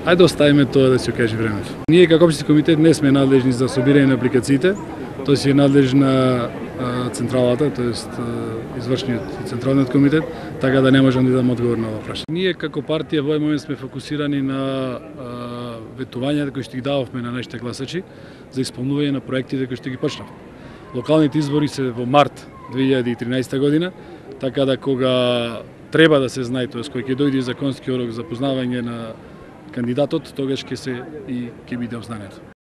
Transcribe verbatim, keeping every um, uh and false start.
Ајде оставиме тоа да се окаже времето. Ние како општински комитет не сме надлежни за собирање на апликациите, тоа си е надлежна централата, тоест извршниот централниот комитет, така да не можам да дадам одговор на ова прашање. Ние како партија во овој момент сме фокусирани на ветувањата кои што ги дававме на нашите гласачи за исполнување на проектите кои што ги почнав. Локалните избори се во март две илјади и тринаесета година, така да кога треба да се знае, тоест кој ќе дојде законски рок за познавање на кандидатот, тогаш ќе се и ќе биде обзнането.